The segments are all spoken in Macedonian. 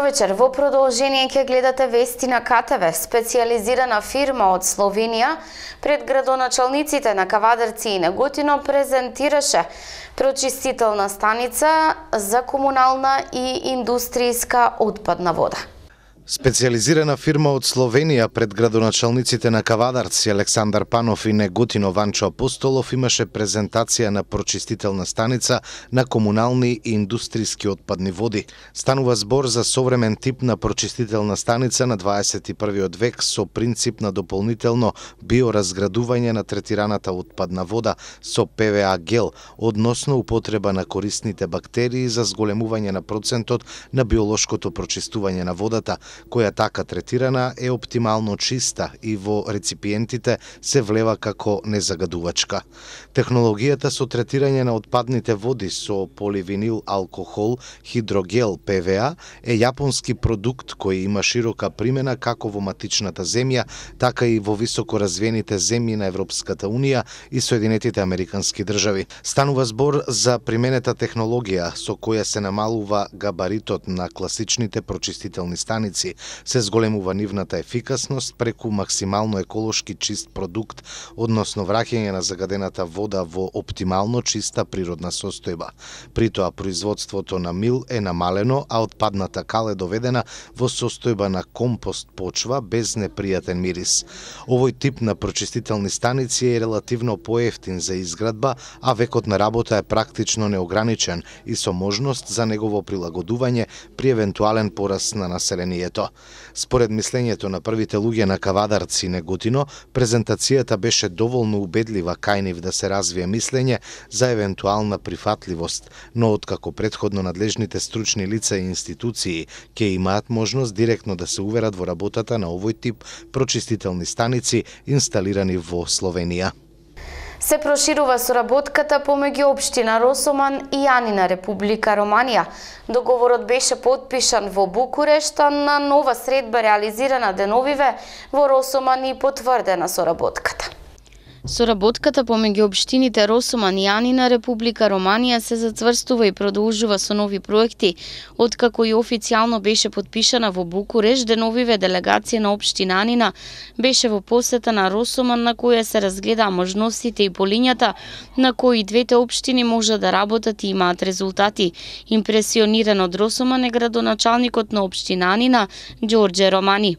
вечер. Во продолжение ќе гледате вести на КТВ. Специјализирана фирма од Словенија пред градоначалниците на Кавадарци и Неготино презентираше прочистителна станица за комунална и индустријска отпадна вода. Специјализирана фирма од Словенија пред градоначалниците на Кавадарци Александар Панов и Неготино Ванчо Апостолов имаше презентација на прочистителна станица на комунални и индустријски отпадни води. Станува збор за современ тип на прочистителна станица на 21 век со принцип на дополнително биоразградување на третираната отпадна вода со ПВА гел, односно употреба на корисните бактерии за зголемување на процентот на биолошкото прочистување на водата, која така третирана е оптимално чиста и во реципиентите се влева како незагадувачка. Технологијата со третирање на отпадните води со поливинил алкохол хидрогел ПВА е јапонски продукт кој има широка примена како во матичната земја, така и во високо развиените земји на Европската Унија и Соединетите Американски држави. Станува збор за применета технологија со која се намалува габаритот на класичните прочистителни станици, се зголемува нивната ефикасност преку максимално еколошки чист продукт, односно враќање на загадената вода во оптимално чиста природна состојба. При тоа производството на мил е намалено, а отпадната кал е доведена во состојба на компост почва без непријатен мирис. Овој тип на прочистителни станици е релативно поевтин за изградба, а векот на работа е практично неограничен и со можност за негово прилагодување при евентуален пораст на населението. Според мислењето на првите луѓе на Кавадарци и Неготино, презентацијата беше доволно убедлива кај нив да се развие мислење за евентуална прифатливост, но откако претходно надлежните стручни лица и институции ќе имаат можност директно да се уверат во работата на овој тип прочистителни станици инсталирани во Словенија. Се проширува соработката помеѓу општина Росоман и Јанина, Република Романија. Договорот беше потпишан во Букурешт, а на нова средба реализирана деновиве во Росоман и потврдена соработката. Соработката помеѓу општините Росоман и Јанина, Република Романија се зацврстува и продолжува со нови проекти. Откако и официјално беше потпишана во Букурешт, деновиве делегација на општина Јанина беше во посета на Росоман, на која се разгледа можностите и полињата на кои двете општини може да работат и имаат резултати. Импресиониран од Росоман е градоначалникот на општина Јанина, Ѓорѓе Романи.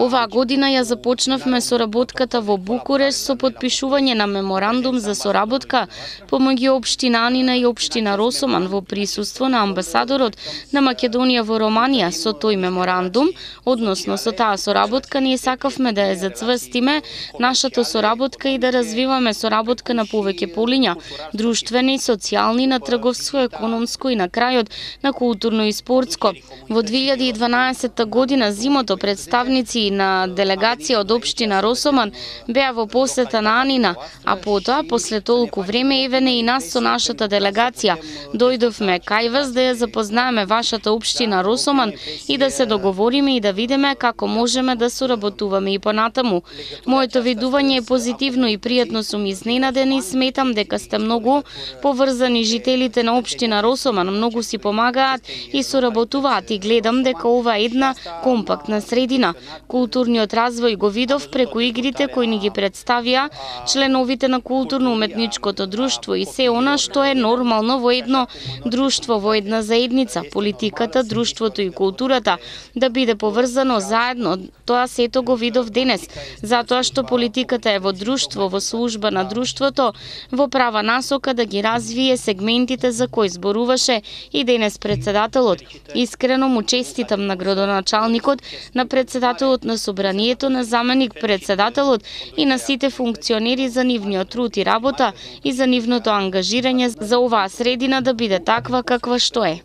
Оваа година ја започнавме соработката во Букурешт со потпишување на меморандум за соработка помеѓу општина Јанина и општина Росоман во присуство на амбасадорот на Македонија во Романија. Со тој меморандум, односно со таа соработка, ние сакавме да ја зацврстиме нашата соработка и да развиваме соработка на повеќе полиња, друштвени, социјални, на трговско, економско и на крајот на културно и спортско. Во 2012 година зимото представници на делегација од општина Росоман беа во посета на Јанина, а потоа, после толку време, евене и нас со нашата делегација. Дојдовме кај вас да ја запознаеме вашата општина Росоман и да се договориме и да видиме како можеме да соработуваме и понатаму. Моето видување е позитивно и пријатно сум изненаден и сметам дека сте многу поврзани жителите на општина Росоман, многу си помагаат и соработуваат и гледам дека ова е една компактна средина. Културниот развој го видов преку игрите кои ни ги представија членовите на културно-уметничкото друштво и се она што е нормално во едно друштво, во една заедница. Политиката, друштвото и културата да биде поврзано заедно. Тоа сето го видов денес, затоа што политиката е во друштво, во служба на друштвото, во права насока да ги развие сегментите за кои зборуваше и денес председателот. Искрено му честитам на градоначалникот, на председателот на собранието, на заменик председателот и на сите функционери за нивниот труд и работа и за нивното ангажирање за оваа средина да биде таква каква што е.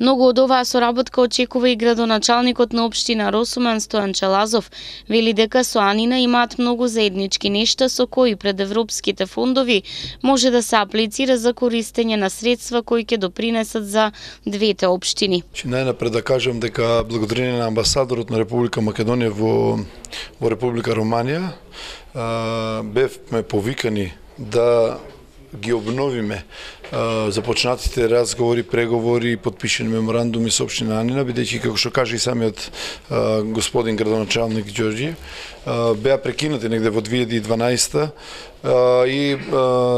Многу од оваа соработка очекува и градоначалникот на општина Росоман Стојан Челазов. Вели дека со Јанина имаат многу заеднички нешта со кои пред европските фондови може да се аплицира за користење на средства кои ќе допринесат за двете општини. Најнапред да кажам дека благодарение на амбасадорот на Република Македонија во Република Романија бевме повикани да ги обновиме започнатите разговори, преговори и подпишени меморандуми со општина Анина, бидејќи како што каже и самиот господин градоначалник Ѓорѓи, беа прекинати негде во 2012 и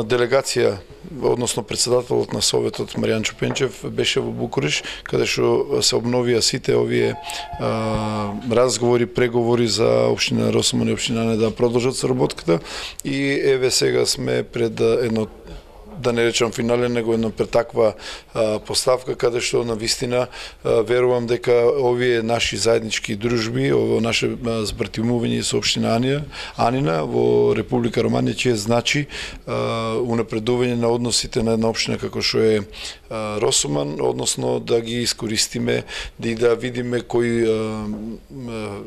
делегација, односно председателот на Советот Маријан Чупенчев беше во Букуреш, каде што се обновија сите овие разговори, преговори за општина Росомон и општина Анина да продолжат соработката и еве сега сме пред едно, да не речам финален, него едно пред таква поставка, каде што на вистина верувам дека овие наши заеднички дружби, ово наше збратимување со општина Анина во Република Романија ќе значи унапредување на односите на една општина како што е Росоман, односно да ги искористиме и да видиме кои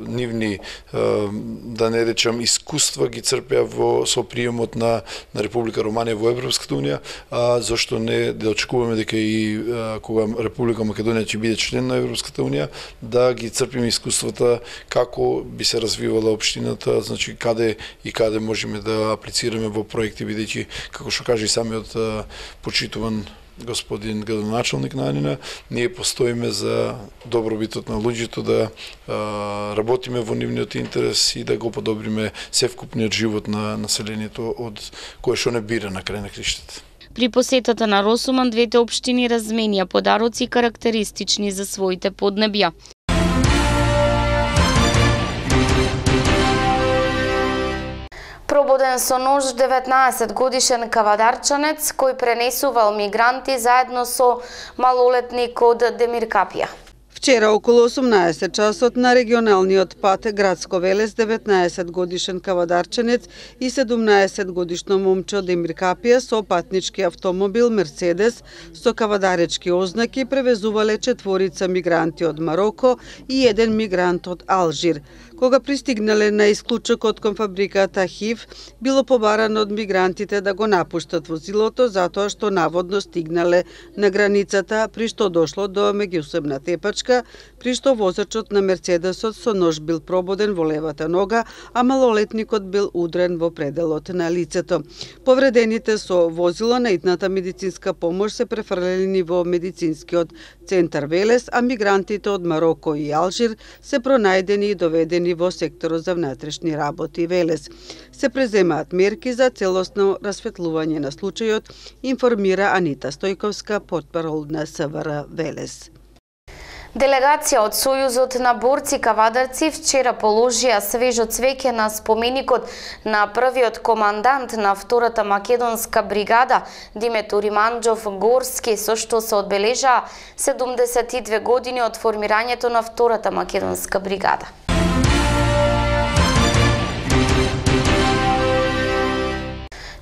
нивни, да не речам, искуства ги црпеа со приемот на Република Романија во Европската унија, зашто не да очекуваме дека и кога Република Македонија ќе биде член на Европската унија, да ги црпиме искуствата како би се развивала општината, значи каде и каде можеме да аплицираме во проекти, бидејќи како што каже и самиот почитуван господин градоначалник на Анина, ние постоиме за добробитот на луѓето, да работиме во нивниот интерес и да го подобриме севкупниот живот на населението од кое што не бира на крај на криштата. При посетата на Росоман двете општини разменија подароци карактеристични за своите поднебја. Прободен со нож 19-годишен кавадарчанец кој пренесувал мигранти заедно со малолетник од Демиркапија. Вчера околу 18 часот на регионалниот пат Градско Велес 19-годишен кавадарчанец и 17-годишно момче од Демиркапија со патнички автомобил Мерцедес со кавадаречки ознаки превезувале 4 мигранти од Мароко и 1 мигрант од Алжир. Кога пристигнале на исклучокот кон фабриката ХИВ, било побарано од мигрантите да го напуштат возилото затоа што наводно стигнале на границата, при што дошло до меѓусебна тепачка, при што возачот на Мерцедесот со нож бил прободен во левата нога, а малолетникот бил удрен во пределот на лицето. Повредените со возило на итната медицинска помош се префрлени во медицинскиот центар Велес, а мигрантите од Мароко и Алжир се пронајдени и доведени во секторот за внатрешни работи Велес. Се преземаат мерки за целосно расветлување на случајот, информира Анита Стојковска, портпарол на СВР Велес. Делегација од Сојузот на борци кавадарци вчера положија свежо цвеќе на споменикот на првиот командант на втората македонска бригада Диметур Иманџов Горски, со што се одбележаа 72 години од формирањето на втората македонска бригада.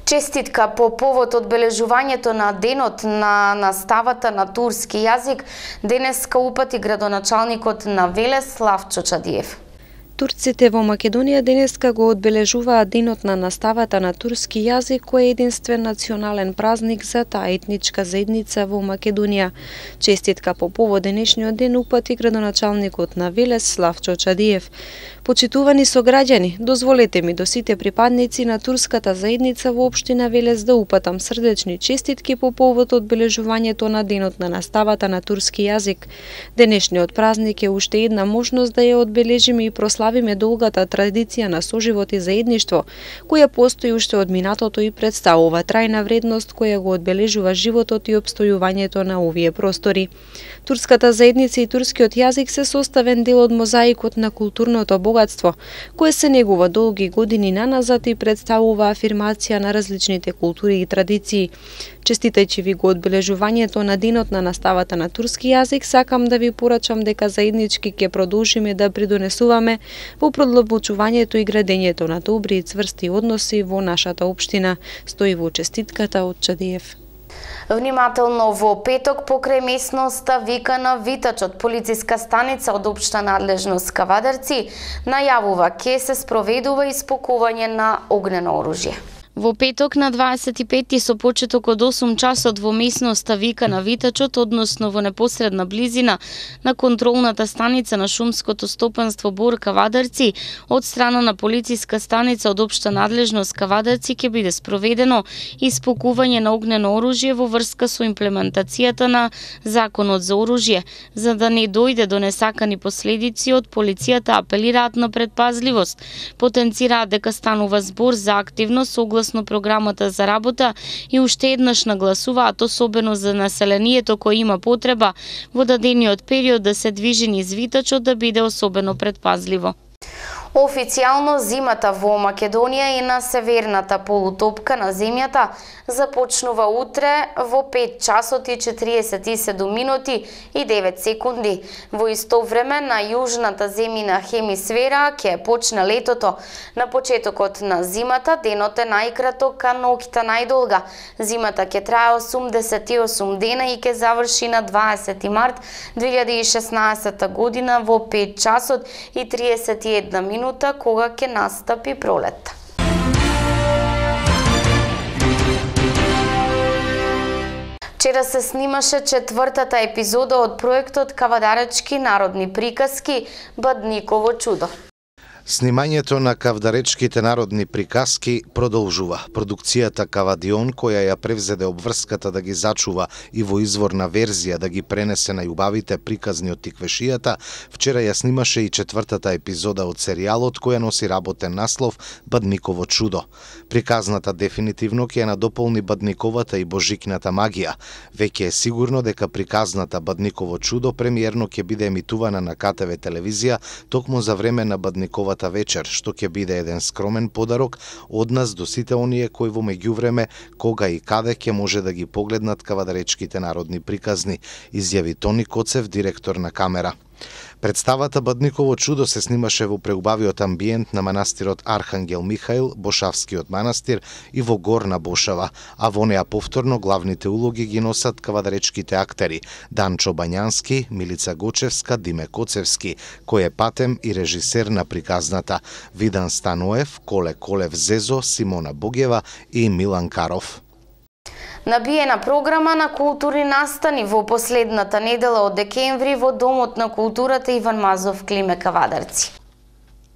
Честитка по повод одбележувањето на денот на наставата на турски јазик денеска упати градоначалникот на Велес Славчо Чадиев. Турците во Македонија денеска го одбележуваат денот на наставата на турски јазик, кој е единствен национален празник за таа етничка заедница во Македонија. Честитка по повод денешниот ден упати градоначалникот на Велес Славчо Чадиев. Почитувани сограѓани, дозволете ми до сите припадници на турската заедница во општина Велес да упатам срдечни честитки по повод одбележувањето на денот на наставата на турски јазик. Денешниот празник е уште една можност да ја одбележиме и прославиме долгата традиција на соживот и заедништво, која постои уште од минатото и представува трајна вредност која го одбележува животот и опстојувањето на овие простори. Турската заедница и турскиот јазик се составен дел од мозаикот на културното богатство, кое се негува долги години наназад и представува афирмација на различните култури и традиции. Честитајќи ви го одбележувањето на денот на наставата на турски јазик, сакам да ви порачам дека заеднички ќе продолжиме да придонесуваме во продлабочувањето и градењето на добри и цврсти односи во нашата општина, стои во честитката од Чадиев. Внимателно во петок покрај местноста Викана витачот полициска станица од општа надлежност Кавадарци најавува ке се спроведува испукување на огнено оружје. Во петок на 25 со почеток од 8 часот во местноста Вика на Витачот, односно во непосредна близина на контролната станица на шумското стопанство Бор Кавадарци, од страна на полициска станица од општа надлежност Кавадарци ќе биде спроведено испукување на огнено оружје во врска со имплементацијата на Законот за оружје. За да не дојде до несакани последици, од полицијата апелираат на предпазливост. Потенцираат дека станува збор за активност согласно програмата за работа и уште еднаш нагласуваат особено за населението кој има потреба во дадениот период да се движи низ Витачот да биде особено предпазливо. Официјално зимата во Македонија и на северната полутопка на земјата започнува утре во 5 часот и 47 минути и 9 секунди. Во исто време на јужната земјина хемисфера ќе почне летото. На почетокот на зимата денот е најкраток, а ноќта најдолга. Зимата ќе трае 88 дена и ќе заврши на 20 март 2016 година во 5 часот и 31 минута, кога ќе настапи пролет. Вчера се снимаше 4-та епизода од проектот Кавадаречки народни приказки Бадниково чудо. Снимањето на кавдаречките народни приказки продолжува. Продукцијата Кавадион, која ја превзеде обврската да ги зачува и во изворна верзија да ги пренесе на јубавите приказни од тиквешијата, вчера ја снимаше и 4-та епизода од серијалот, која носи работен наслов Бадниково чудо. Приказната дефинитивно ќе ја надополни Бадниковата и божикната магија. Веќе е сигурно дека приказната Бадниково чудо премиерно ќе биде емитувана на КТВ телевизија токму за време на Бадниковата вечер, што ќе биде еден скромен подарок од нас до сите оние кои во меѓувреме кога и каде ќе може да ги погледнат кавадаречките народни приказни, изјави Тони Коцев, директор на камера. Представата Бадниково чудо се снимаше во преубавиот амбиент на манастирот Архангел Михаил, Бошавскиот манастир и во Горна Бошава, а во неа повторно главните улоги ги носат кавадаречките актери Данчо Бањански, Милица Гочевска, Диме Коцевски, кој е патем и режисер на приказната, Видан Станоев, Коле Колев Зезо, Симона Богева и Милан Каров. Набиена програма на културни настани во последната недела од декември во Домот на културата Иван Мазов, Климе Кавадарци.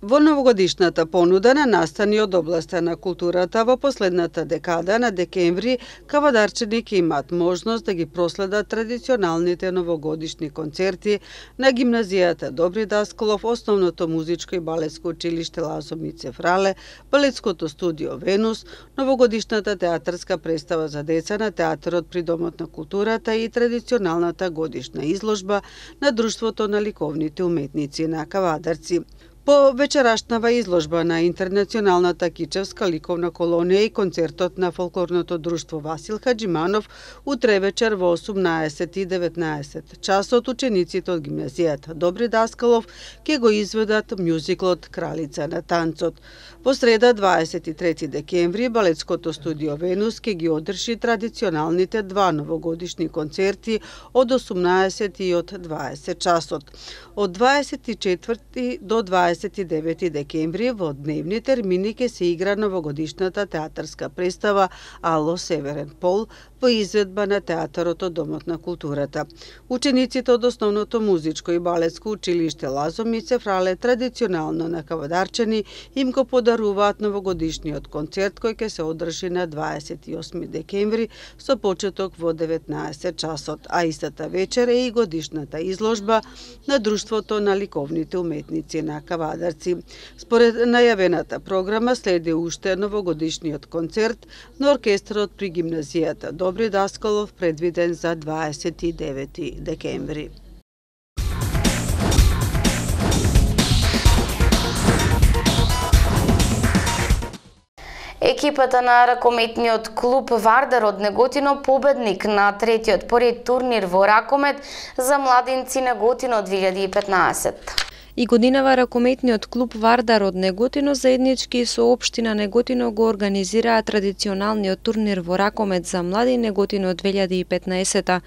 Во новогодишната понуда на настани од областа на културата во последната декада на декември, кавадарчани ќе имаат можност да ги проследат традиционалните новогодишни концерти на гимназијата Добри Даскалов, Основното музичко и балетско училиште Лазо Мице Фрале, балетското студио Венус, новогодишната театарска представа за деца на театарот при Домот на културата и традиционалната годишна изложба на Друштвото на ликовните уметници на Кавадарци. По вечерашнава изложба на Интернационалната кичевска ликовна колонија и концертот на фолклорното друштво Васил Хаджиманов, утре вечер во 18 и 19 часот учениците од гимназијата Добри Даскалов ќе го изведат мюзиклот Кралица на танцот. Во среда 23 декември балетското студио Венус ќе ги одржи традиционалните два новогодишни концерти од 18 и од 20 часот. Од 24 до 29 декември во дневни термини ќе се игра новогодишната театарска представа Ало Северен пол во изведба на театарот од Домот на културата. Учениците од Основното музичко и балетско училиште Лазо Мице Фрале традиционално на Кавадарчани им го подаруваат новогодишниот концерт кој ќе се одржи на 28 декември со почеток во 19 часот, а истата вечер е и годишната изложба на Друштвото на ликовните уметници на Кавадарци. Според најавената програма следи уште новогодишниот концерт на оркестрот при гимназијата Добри Даскалов, предвиден за 29 декември. Екипата на ракометниот клуб Вардар од Неготино победник на третиот поред турнир во ракомет за младинци Неготино 2015. И годинава ракометниот клуб Вардар од Неготино заеднички со општина Неготино го организираа традиционалниот турнир во ракомет за млади Неготино 2015.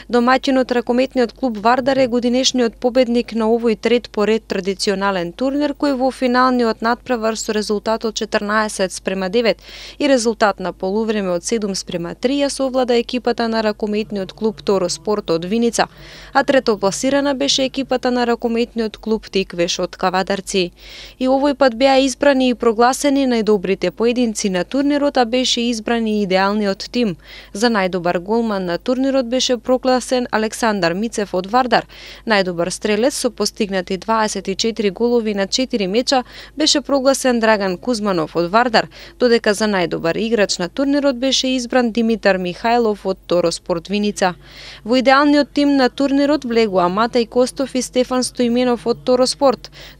Домаќинот ракометниот клуб Вардар е годинешниот победник на овој трет поред традиционален турнир кој во финалниот надпревар со резултат од 14:9 и резултат на полувреме од 7:3 ја совлада екипата на ракометниот клуб Тороспорт од Виница, а третопласирана беше екипата на ракометниот клуб Тиквеш од Кавадарци. И овој пат беа избрани и прогласени најдобрите поединци на турнирот, а беше избран и идеалниот тим. За најдобар голман на турнирот беше прогласен Александар Мицев од Вардар. Најдобар стрелец со постигнати 24 голови на 4 меча беше прогласен Драган Кузманов од Вардар, додека за најдобар играч на турнирот беше избран Димитар Михајлов од Тороспорт Виница. Во идеалниот тим на турнирот влегоа Матеј Костов и Стефан Стоименов од Тороспорт,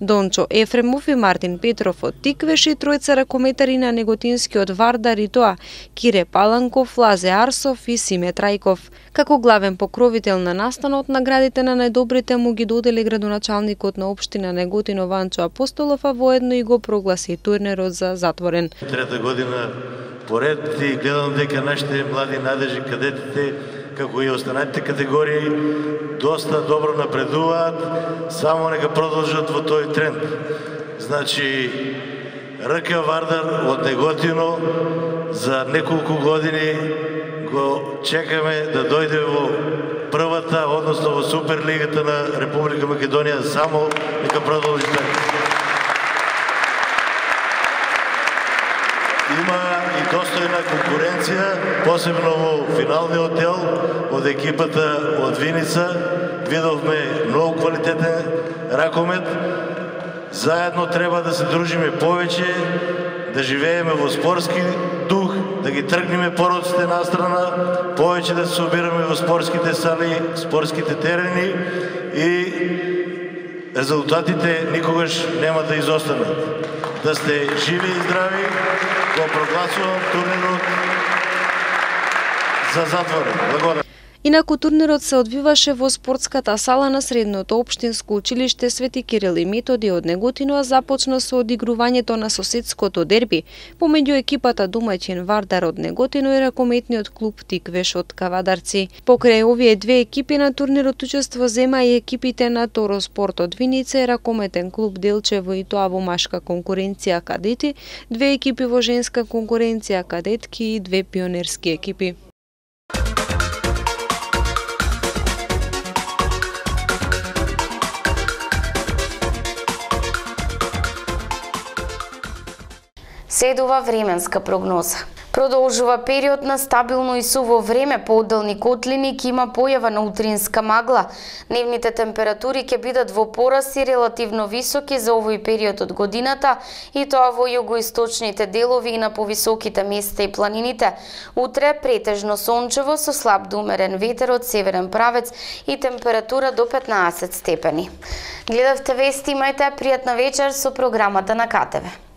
Дончо Ефремов и Мартин Петров од Тиквеш и тројца ракометари на неготинскиот Вардар и тоа Кире Паланков, Лазе Арсов и Симе Трајков. Како главен покровител на настанот, наградите на најдобрите му ги додели градоначалникот на општина Неготино Ванчо Апостолов, а воедно и го прогласи турнирот за затворен. Трета година поред и гледам дека нашите млади надежи кадетите, како и останатите категории, доста добро напредуваат, само нека продолжат во тој тренд. Значи, РК Вардар од Неготино за неколку години го чекаме да дојде во првата, односно во Суперлигата на Република Македонија, само нека продолжи така. Има и достојна конкуренција, посебно во финалниот дел од екипата од Виница. Видовме многу квалитетен ракомет. Заедно треба да се дружиме повеќе, да живееме во спортски дух, да ги тргнеме пороците настрана, повеќе да се собираме во спортските сали, спортските терени и резултатите никогаш нема да изостанат. Да сте живи и здрави, го прогласувам турнирот за затворен. Благодарам. Инаку турнирот се одвиваше во спортската сала на Средното општинско училиште Свети Кирил и Методи од Неготино, а започна со одигрувањето на соседското дерби помеѓу екипата домаќин Вардар од Неготино и ракометниот клуб Тиквеш од Кавадарци. Покрај овие две екипи на турнирот учество зема и екипите на Тороспорт од Виница и ракометен клуб Делчево, и тоа во машка конкуренција кадети, две екипи во женска конкуренција кадетки и две пионерски екипи. Следува временска прогноза. Продолжува период на стабилно и суво време, поодделни котлини, ќе има појава на утринска магла. Дневните температури ќе бидат во пораст и релативно високи за овој период од годината, и тоа во југоисточните делови и на повисоките места и планините. Утре претежно сончево со слаб до умерен ветер од северен правец и температура до 15 степени. Гледавте вести, имајте пријатна вечер со програмата на КТВ.